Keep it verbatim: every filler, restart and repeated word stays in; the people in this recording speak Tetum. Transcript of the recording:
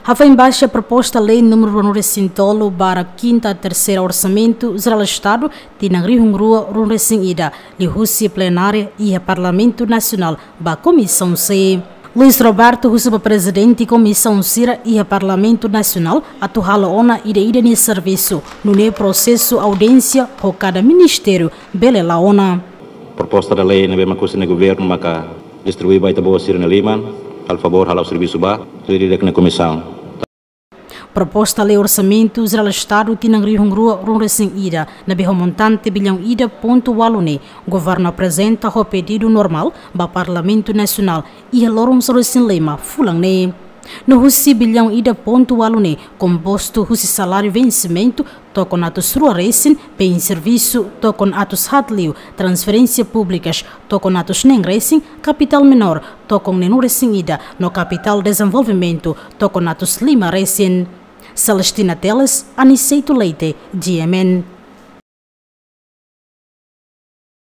Hafoin baixa proposta lei númeru ruanulu-resin-tolu barra kinta terseira Orsamentu Jerál Estadu tinan rihun rua ruanulu-resin-ida liuhusi plenária iha Parlamentu Nasionál ba Komisaun C. Luis Roberto husu ba prezidente komisaun sira iha Parlamentu Nasionál atu halo ona ida-idak nia servisu, nune'e prosesu audiénsia ho kada ministériu bele la'o ona. Proposta da lei ne'ebé mak husi governu maka distribui ba ita-boot sira-nia liman, halo favór halo servisu ba, sira ida-idak nia komisaun. Proposta lei Orsamentu Jerál Estadu tinan rihun rua ruanulu-resin-ida ne'ebé ho montante billaun ida pontu ualu ne'e, governu aprezenta ho pedidu normál ba Parlamentu Nasionál iha loron sanulu-resin-lima fulan ne'e. No husi billaun ida pontu ualu ne'e kompostu husi saláriu vensimentu tokon atus rua resin, bens servisu tokon atus haat liu, transferénsias públikas tokon atus neen resin, kapitál menór tokon neenulu-resin-ida, no kapitál dezenvolvimentu tokon atus lima resin. Celestina Teles, Aniceto Leite, G M N.